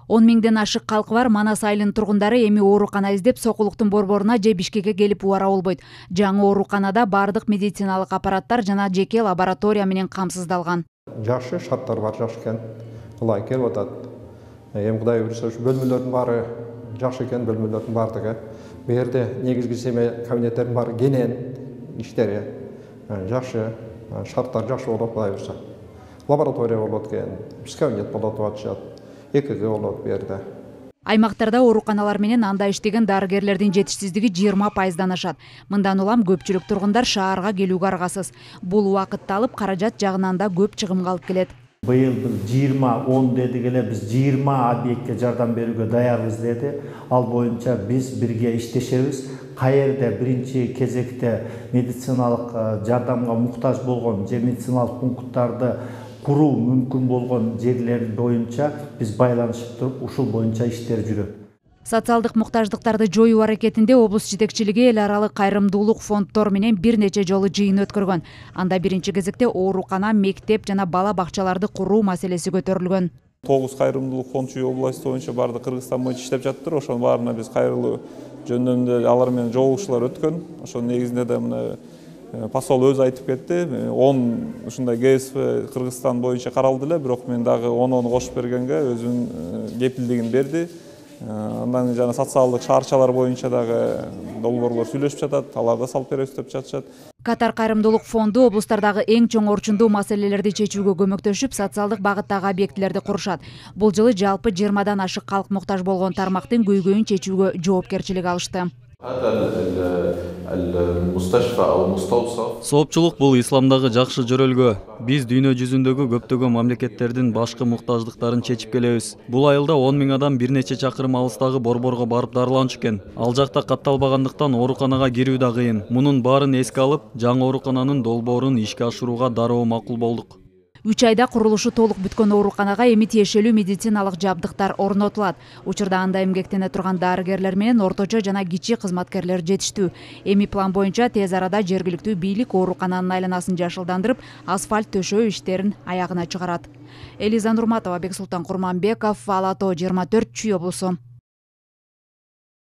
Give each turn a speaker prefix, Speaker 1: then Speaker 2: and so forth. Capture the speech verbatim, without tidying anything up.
Speaker 1: он миңден ашык калкы бар Манас айылынын тургундары эми оорукана издеп Сокулуктун борборуна же Бишкекке келип убара болбойт. Жаңы ооруканада бардык медициналык аппараттар жана жеке лаборатория менен камсыздалган.
Speaker 2: Жакшы шарттар бар, жакшы экен. Ылай келип атат. Эми Кудай буйрса бөлмөлөрдүн баары жакшы экен, бөлмөлөрдүн бардыгы. Бу жерде негизги семей кабинеттердин баары кенен иштери жакшы, шарттар жакшы болот Кудай буйрса. Лаборатория болот экен, кабинет болот деп атышат. Экиге болот бу жерде.
Speaker 1: Аймактарда ооруканалар менен анда иштеген дарыгерлердин жетишсиздиги жыйырма пайыздан ашат. Мындан улам көпчүлүк тургундар шаарга келүүгө аргасыз. Бул убакытты алып, каражат жагынан да көп чыгымга алып келет.
Speaker 3: Быйыл биз жыйырма он дедик эле, биз жыйырма объектке жардам берүүгө даярбыз деди. Ал боюнча биз бирге иштешебиз. Каерде биринчи кезекте медициналык жардамга муктаж болгон же медициналык пункттарды куруу мүмкүн болгон жерлер боюнча биз байланышып туруп, ушул боюнча иштер жүрөт.
Speaker 1: Социалдык муктаждыктарды жоюу аракетинде облус жетекчилиги эл аралык кайрымдуулук фонддор менен бир нече жолу жыйын өткөргөн. Анда биринчи кезекте оорукана, мектеп жана бала бакчаларды куруу маселеси көтөрүлгөн.
Speaker 4: тогуз кайрымдуулук фонд чүй областы боюнча бардык Кыргызстан боюнча иштеп жатыптыр. Ошонун баарына биз кайрылуу жөнүндө алар менен жолугушуулар өткөн. Ошонун негизинде да мына посол өзү айтып кетти. он ушундай ГСФ Кыргызстан боюнча каралды эле, бирок мен дагы онону кошуп бергенге өзүнүн кепилдигин берди. Андан жана социалдык шаарчалар боюнча дагы долбоорлор сүйлөшүп жатат, аларды салып беребиз деп жатышат.
Speaker 1: Катар кайрымдуулук фонду облустардагы эң чоң орчундуу маселелерди чечүүгө көмөктөшүп, социалдык багыттагы объектилерди курушат. Бул жылы жалпы жыйырмадан ашык калк муктаж болгон тармактын көйгөйүн чечүүгө жоопкерчилик алышты.
Speaker 5: Соопчулук бул исламдагы жакшы жөрөлгө. Биз дүйнө жүзүндөгү көптөгөн мамлекеттердин башкы муктаждыктарын чечип келебиз. Бул айылда он миң адам бир нече чакырым алыстагы борборго барып дарыланчу экен. Ал жакта катталбагандыктан ооруканага кирүү да кыйын. Мунун баарын эске алып, жаңы оорукананын долбоорун ишке ашырууга дароо макул болдук.
Speaker 1: үч айда курулушу толук бүткөн ооруканага эми тиешелүү медициналык жабдыктар орнотулат. Учурда анда эмгектене турган дарыгерлер менен орточо жана кичи кызматкерлер жетиштүү. Эми план боюнча тез арада жергиликтүү бийлик оорукананын айланасын жашылдандырып, асфальт төшөө иштерин аягына чыгарат. Элиза Нурматова, Бексултан Курманбеков, Ала тоо жыйырма төрт Чүй облусу.